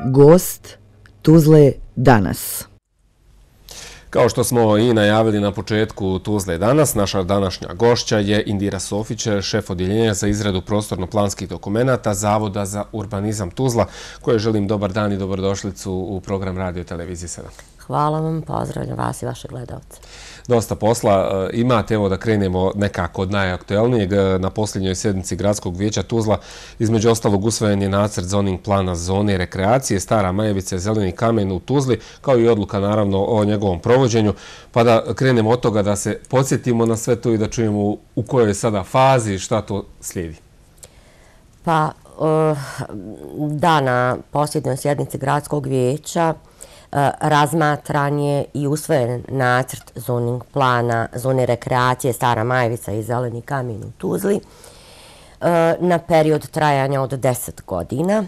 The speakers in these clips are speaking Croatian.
Gost Tuzle danas. Kao što smo i najavili na početku Tuzle danas, naša današnja gošća je Indira Sofić, šef odjeljenja za izradu prostorno-planskih dokumenata Zavoda za urbanizam Tuzla, koje želim dobar dan i dobrodošlicu u program Radio Televizije 7. Hvala vam, pozdravljam vas i vaše gledalce. Dosta posla imate, evo da krenemo nekako od najaktuelnijeg. Na posljednjoj sjednici Gradskog vijeća Tuzla između ostalog usvojen je nacrt zoning plana zone rekreacije Stara Majevica i Zeleni kamen u Tuzli, kao i odluka naravno o njegovom provođenju. Pa da krenemo od toga da se podsjetimo na sve to i da čujemo u kojoj je sada fazi, šta to slijedi. Pa, na posljednjoj sjednici Gradskog vijeća razmatran je i usvojen nacrt zoning plana zone rekreacije Stara Majevica i Zeleni kamen u Tuzli na period trajanja od 10 godina.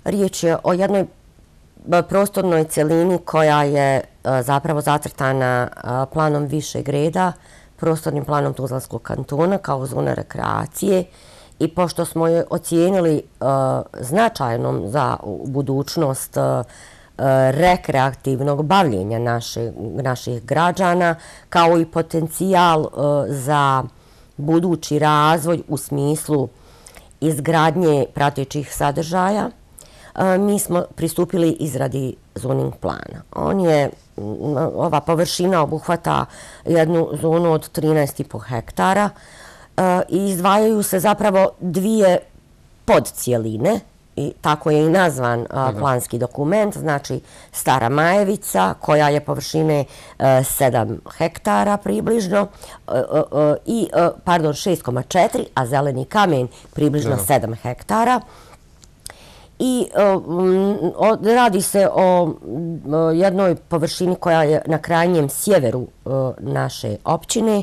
Riječ je o jednoj prostornoj celini koja je zapravo zacrtana planom višeg reda, prostornim planom Tuzlanskog kantona kao zona rekreacije, i pošto smo je ocijenili značajnom za budućnost rekreativnog bavljenja naših građana, kao i potencijal za budući razvoj u smislu izgradnje pratećih sadržaja, mi smo pristupili izradi zoning plana. Ova površina obuhvata jednu zonu od 13,5 hektara i izdvajaju se zapravo dvije podcijeline, i tako je i nazvan planski dokument, znači Stara Majevica koja je površine 7 hektara približno, 6,4, a Zeleni kamen približno 7 hektara. I radi se o jednoj površini koja je na krajnjem sjeveru naše općine,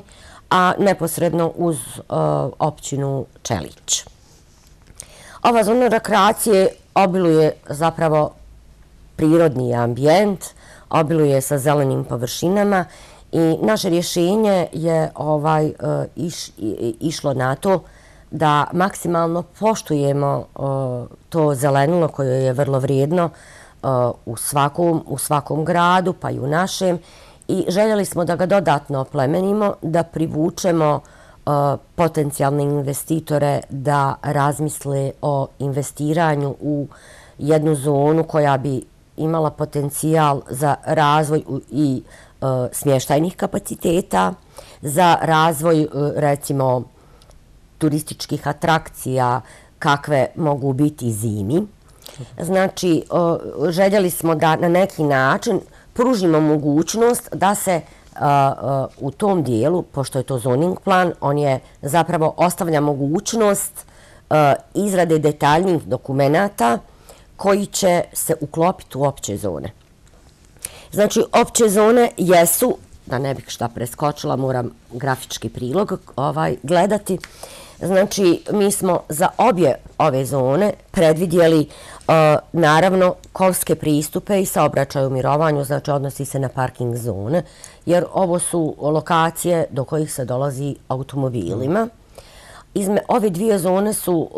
a neposredno uz općinu Čelić. Ova zona rekreacije obiluje zapravo prirodni ambijent, obiluje sa zelenim površinama i naše rješenje je išlo na to da maksimalno poštujemo to zelenilo koje je vrlo vrijedno u svakom gradu, pa i u našem, i željeli smo da ga dodatno oplemenimo, da privučemo potencijalne investitore da razmisle o investiranju u jednu zonu koja bi imala potencijal za razvoj i smještajnih kapaciteta, za razvoj recimo turističkih atrakcija kakve mogu biti zimi. Znači, željeli smo da na neki način pružimo mogućnost da se u tom dijelu, pošto je to zoning plan, on je zapravo ostavlja mogućnost izrade detaljnih dokumenata koji će se uklopiti u opće zone. Znači, opće zone jesu, da ne bih šta preskočila, moram grafički prilog gledati. Znači, mi smo za obje ove zone predvidjeli naravno kolske pristupe i saobraćaj u mirovanju, znači odnosi se na parking zone, jer ovo su lokacije do kojih se dolazi automobilima. Ove dvije zone su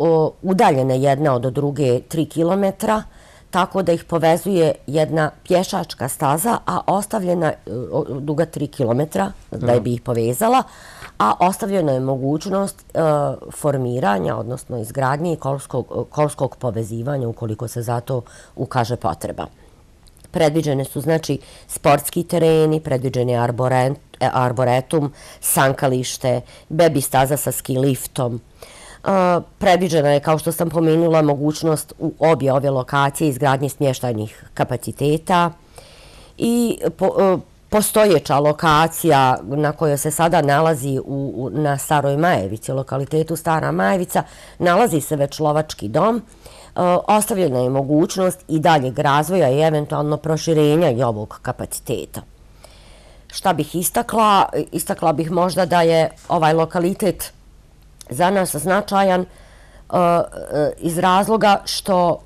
udaljene jedna od druge 3 kilometra, tako da ih povezuje jedna pješačka staza, a ostavljena duga 3 kilometra da bi ih povezala, a ostavljena je mogućnost formiranja, odnosno izgradnje i kolskog povezivanja ukoliko se za to ukaže potreba. Predviđene su znači sportski tereni, predviđen je arboretum, sankalište, bebi staza sa ski liftom. Predviđena je, kao što sam pomenula, mogućnost u obje ove lokacije izgradnje smještajnih kapaciteta i postojeća lokacija na kojoj se sada nalazi na Staroj Majevici, lokalitetu Stara Majevica, nalazi se već lovački dom. Ostavljena je mogućnost i daljeg razvoja i eventualno proširenja i ovog kapaciteta. Šta bih istakla? Istakla bih možda da je ovaj lokalitet za nas značajan iz razloga što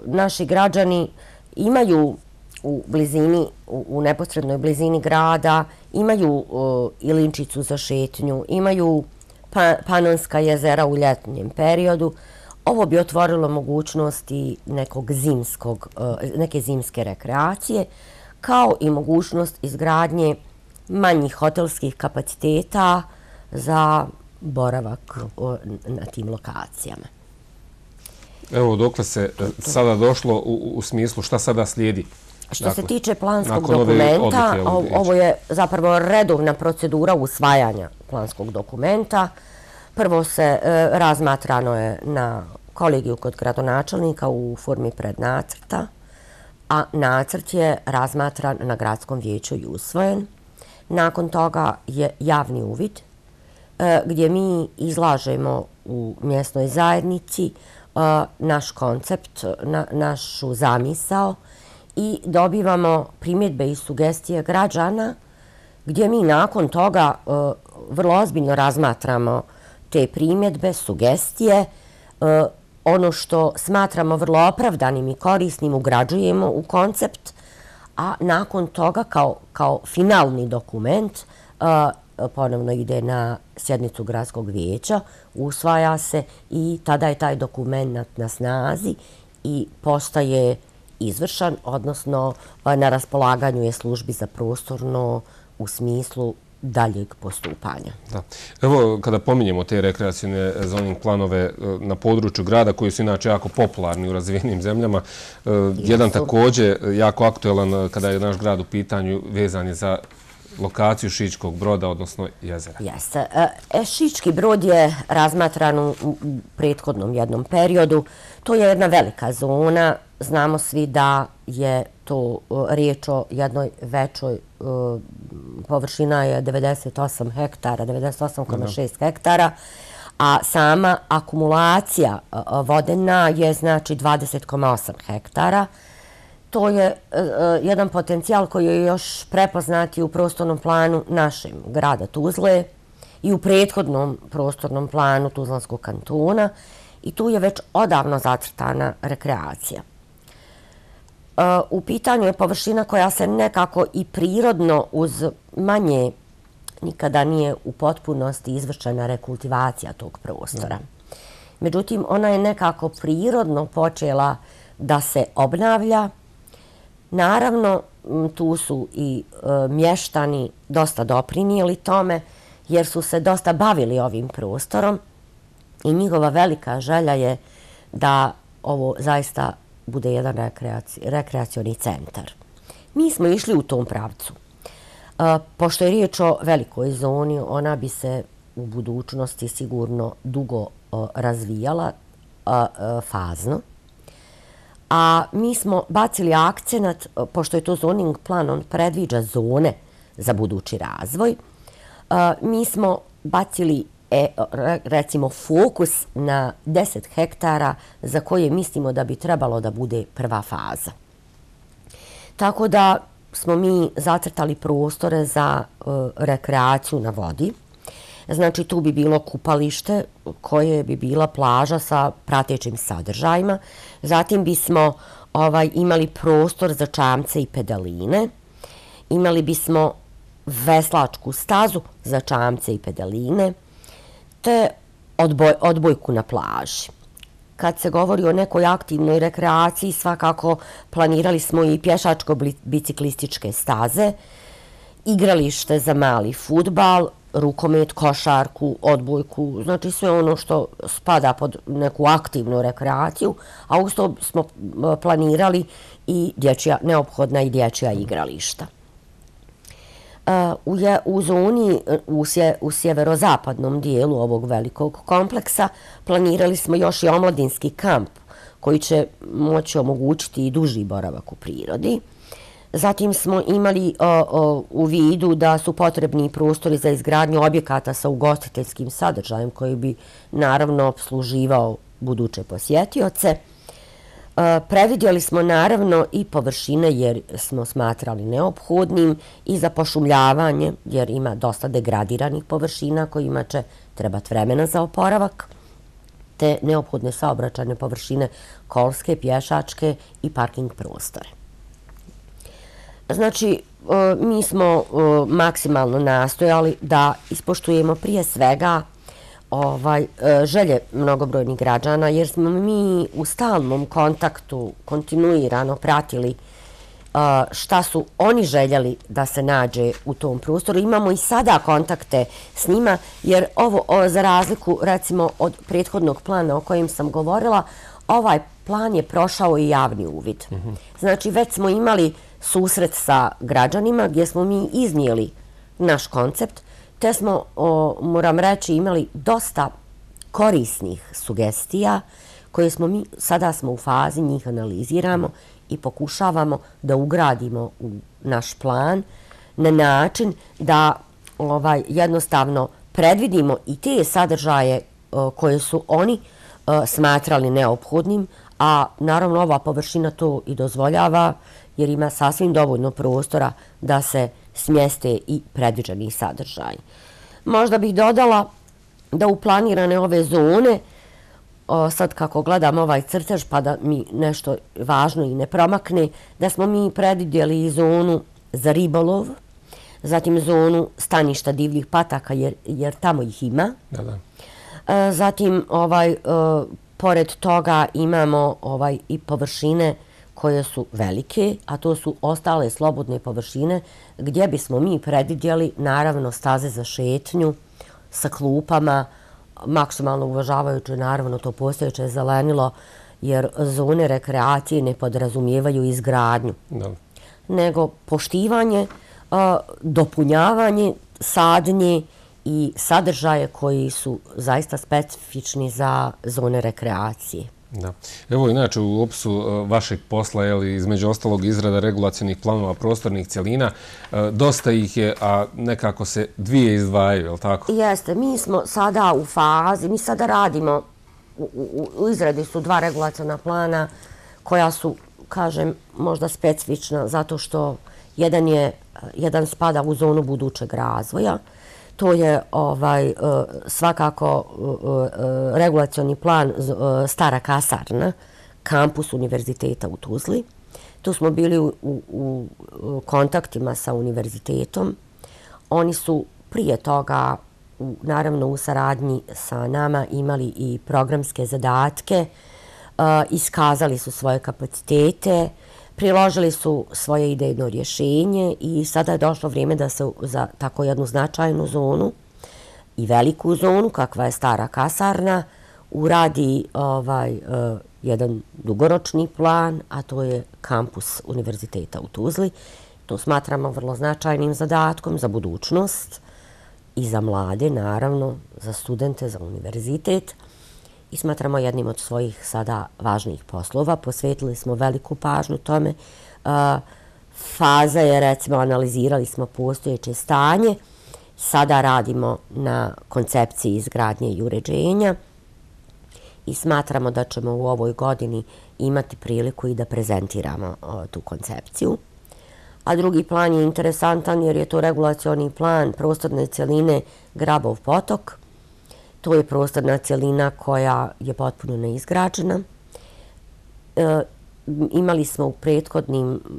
naši građani imaju u blizini, u neposrednoj blizini grada, imaju Ilinčicu za šetnju, imaju Panonska jezera u ljetnjem periodu. Ovo bi otvorilo mogućnosti neke zimske rekreacije, kao i mogućnost izgradnje manjih hotelskih kapaciteta za boravak na tim lokacijama. Evo, dokle se sada došlo u smislu šta sada slijedi? Što se tiče planskog dokumenta, ovo je zapravo redovna procedura usvajanja planskog dokumenta. Prvo se razmatrano je na kolegiju kod gradonačelnika u formi prednacrta, a nacrt je razmatran na gradskom vijeću i usvojen. Nakon toga je javni uvid gdje mi izlažemo u mjesnoj zajednici naš koncept, našu zamisao i dobivamo primjedbe i sugestije građana gdje mi nakon toga vrlo ozbiljno razmatramo te primjedbe, sugestije, ono što smatramo vrlo opravdanim i korisnim ugrađujemo u koncept, a nakon toga kao finalni dokument ponovno ide na sjednicu gradskog vijeća, usvaja se i tada je taj dokument na snazi i postaje izvršan, odnosno na raspolaganju je službi za prostorno u smislu daljeg postupanja. Da. Evo, kada pominjemo te rekreacijne zoning planove na području grada, koji su inače jako popularni u razvijenim zemljama, jedan također jako aktuelan kada je naš grad u pitanju vezan je za lokaciju Šičkog Broda, odnosno jezera. Jeste. Šički Brod je razmatran u prethodnom jednom periodu. To je jedna velika zona. Znamo svi da je to riječ o jednoj većoj, površina je 98 hektara, 98,6 hektara, a sama akumulacija vodena je znači 20,8 hektara. To je jedan potencijal koji je još prepoznat i u prostornom planu našeg grada Tuzle i u prethodnom prostornom planu Tuzlanskog kantona i tu je već odavno zacrtana rekreacija. U pitanju je površina koja se nekako i prirodno uz manje nikada nije u potpunosti izvršena rekultivacija tog prostora. Međutim, ona je nekako prirodno počela da se obnavlja. Naravno, tu su i mještani dosta doprinijeli tome jer su se dosta bavili ovim prostorom i njihova velika želja je da ovo zaista bude jedan rekreacioni centar. Mi smo išli u tom pravcu. Pošto je riječ o velikoj zoni, ona bi se u budućnosti sigurno dugo razvijala fazno. A mi smo bacili akcenat, pošto je to zoning plan, on predviđa zone za budući razvoj, mi smo bacili recimo fokus na 10 hektara za koje mislimo da bi trebalo da bude prva faza. Tako da smo mi zacrtali prostore za rekreaciju na vodi. Znači tu bi bilo kupalište koje bi bila plaža sa pratećim sadržajima. Zatim bismo imali prostor za čamce i pedaline. Imali bismo veslačku stazu za čamce i pedaline te odbojku na plaži. Kad se govori o nekoj aktivnoj rekreaciji, svakako planirali smo i pješačko-biciklističke staze, igralište za mali fudbal, rukomet, košarku, odbojku, znači sve ono što spada pod neku aktivnu rekreaciju, a uz to smo planirali i neophodna i dječja igrališta. U zoni, u sjeverozapadnom dijelu ovog velikog kompleksa, planirali smo još i omladinski kamp koji će moći omogućiti i duži boravak u prirodi. Zatim smo imali u vidu da su potrebni prostori za izgradnju objekata sa ugostiteljskim sadržajem koji bi naravno obsluživao buduće posjetioce. Predvidjeli smo naravno i površine jer smo smatrali neophodnim i za pošumljavanje jer ima dosta degradiranih površina kojima će trebati vremena za oporavak, te neophodne saobraćajne površine kolske, pješačke i parking prostore. Znači, mi smo maksimalno nastojali da ispoštujemo prije svega želje mnogobrojnih građana, jer smo mi u stalnom kontaktu kontinuirano pratili šta su oni željeli da se nađe u tom prostoru. Imamo i sada kontakte s njima, jer ovo, za razliku recimo od prethodnog plana o kojem sam govorila, ovaj plan je prošao i javni uvid. Znači, već smo imali susret sa građanima gdje smo mi iznijeli naš koncept, te smo, moram reći, imali dosta korisnih sugestija koje smo mi, sada smo u fazi, njih analiziramo i pokušavamo da ugradimo u naš plan na način da jednostavno predvidimo i te sadržaje koje su oni smatrali neophodnim, a naravno ova površina to i dozvoljava jer ima sasvim dovoljno prostora da se smjeste i predviđeni sadržaj. Možda bih dodala da u planirane ove zone, sad kako gledam ovaj crtež pa da mi nešto važno i ne promakne, da smo mi predvidjeli i zonu za ribolov, zatim zonu staništa divljih pataka jer tamo ih ima. Zatim pored toga imamo i površine koje su velike, a to su ostale slobodne površine gdje bismo mi predvidjeli naravno staze za šetnju sa klupama, maksimalno uvažavajući naravno to postojeće zelenilo, jer zone rekreacije ne podrazumijevaju izgradnju, nego poštivanje, dopunjavanje, sadnje i sadržaje koji su zaista specifični za zone rekreacije. Da. Evo, inače, u opisu vašeg posla, između ostalog izrada regulacionih planova prostornih cjelina, dosta ih je, a nekako se dvije izdvajaju, je li tako? Jeste, mi smo sada u fazi, mi sada radimo, u izradi su dva regulaciona plana koja su, kažem, možda specifična zato što jedan spada u zonu budućeg razvoja. To je svakako regulacioni plan Stara kasarna, kampus univerziteta u Tuzli. Tu smo bili u kontaktima sa univerzitetom. Oni su prije toga, naravno u saradnji sa nama, imali i programske zadatke, iskazali su svoje kapacitete, priložili su svoje idejno rješenje i sada je došlo vrijeme da se za tako jednu značajnu zonu i veliku zonu, kakva je Stara kasarna, uradi jedan dugoročni plan, a to je kampus univerziteta u Tuzli. To smatramo vrlo značajnim zadatkom za budućnost i za mlade, naravno, za studente, za univerzitet. I smatramo jednim od svojih sada važnijih poslova. Posvetili smo veliku pažnju tome. Faza je, recimo, analizirali smo postojeće stanje. Sada radimo na koncepciji izgradnje i uređenja i smatramo da ćemo u ovoj godini imati priliku i da prezentiramo tu koncepciju. A drugi plan je interesantan jer je to regulacioni plan prostorne cjeline Grabov potok. To je prostorna cjelina koja je potpuno neizgrađena. Imali smo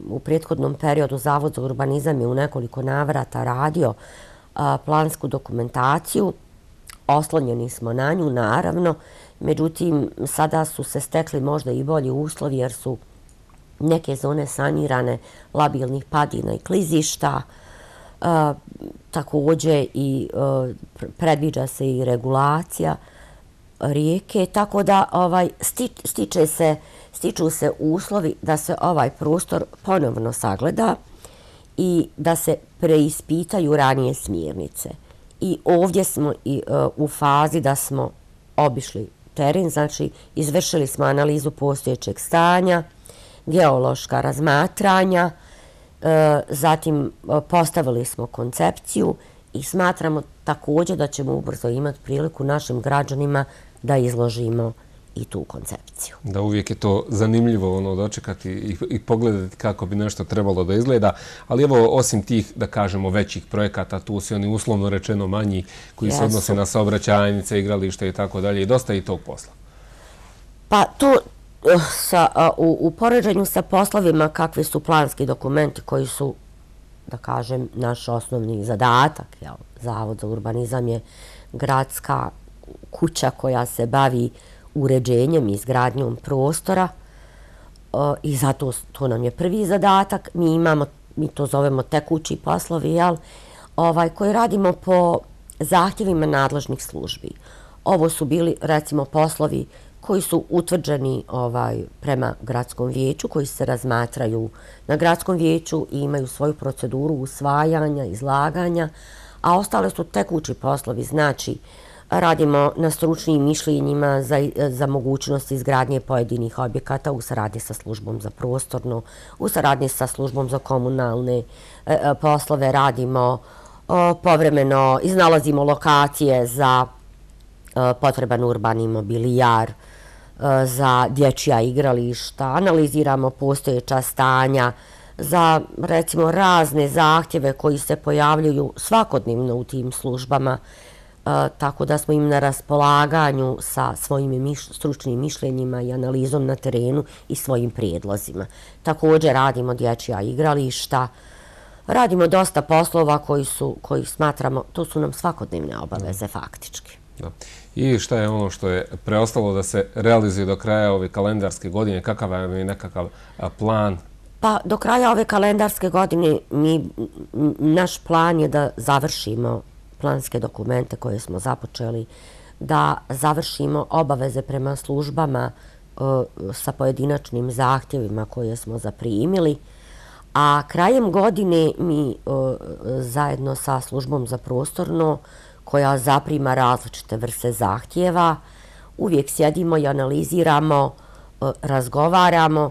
u prethodnom periodu Zavod za urbanizam je u nekoliko navrata radio plansku dokumentaciju. Oslonjeni smo na nju, naravno. Međutim, sada su se stekli možda i bolji uslovi jer su neke zone sanirane labilnih padina i klizišta. Također i predviđa se i regulacija rijeke, tako da stiču se uslovi da se ovaj prostor ponovno sagleda i da se preispitaju ranije smjernice. I ovdje smo u fazi da smo obišli teren, znači izvršili smo analizu postojećeg stanja, geološka razmatranja, zatim postavili smo koncepciju i smatramo također da ćemo ubrzo imati priliku našim građanima da izložimo i tu koncepciju. Da, uvijek je to zanimljivo dočekati i pogledati kako bi nešto trebalo da izgleda, ali evo, osim tih, da kažemo, većih projekata, tu su oni uslovno rečeno manji koji se odnose na saobraćajnice, igralište i tako dalje, i dosta i tog posla. Pa to u poređenju sa poslovima kakvi su planski dokumenti koji su, da kažem, naš osnovni zadatak, Zavod za urbanizam je gradska kuća koja se bavi uređenjem i izgradnjom prostora i zato to nam je prvi zadatak. Mi to zovemo tekući poslovi, koji radimo po zahtjevima nadležnih službi. Ovo su bili, recimo, poslovi koji su utvrđeni prema gradskom vijeću, koji se razmatraju na gradskom vijeću i imaju svoju proceduru usvajanja, izlaganja, a ostale su tekući poslovi, znači radimo na stručnim mišljenjima za mogućnost izgradnje pojedinih objekata u saradnji sa službom za prostorno, u saradnji sa službom za komunalne poslove, radimo povremeno, iznalazimo lokacije za potreban urbani mobilijar, za dječja igrališta, analiziramo postojeća stanja, za, recimo, razne zahtjeve koji se pojavljuju svakodnevno u tim službama, tako da smo im na raspolaganju sa svojim stručnim mišljenjima i analizom na terenu i svojim prijedlozima. Također radimo dječja igrališta, radimo dosta poslova koji smatramo, to su nam svakodnevne obaveze faktički. I šta je ono što je preostalo da se realizuje do kraja ove kalendarske godine? Kakav je nekakav plan? Pa do kraja ove kalendarske godine naš plan je da završimo planske dokumente koje smo započeli, da završimo obaveze prema službama sa pojedinačnim zahtjevima koje smo zaprimili, a krajem godine mi zajedno sa službom za prostorno, koja zaprima različite vrste zahtjeva, uvijek sjedimo i analiziramo, razgovaramo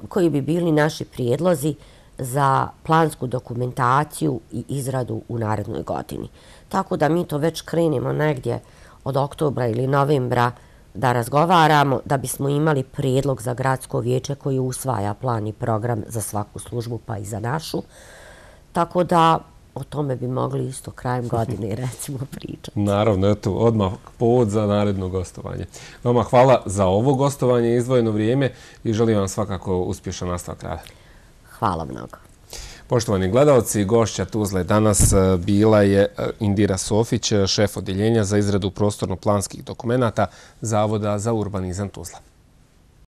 koji bi bili naši prijedlozi za plansku dokumentaciju i izradu u narednoj godini. Tako da mi to već krenemo negdje od oktobra ili novembra da razgovaramo, da bismo imali prijedlog za gradsko vijeće koji usvaja plan i program za svaku službu pa i za našu. Tako da o tome bi mogli isto krajem godine, recimo, pričati. Naravno, eto, odmah povod za naredno gostovanje. Vama hvala za ovo gostovanje i izdvojeno vrijeme i želim vam svakako uspješan nastavak rada. Hvala mnogo. Poštovani gledalci, gošća Tuzle danas bila je Indira Sofić, šef odjeljenja za izradu prostorno-planskih dokumenata Zavoda za urbanizam Tuzla.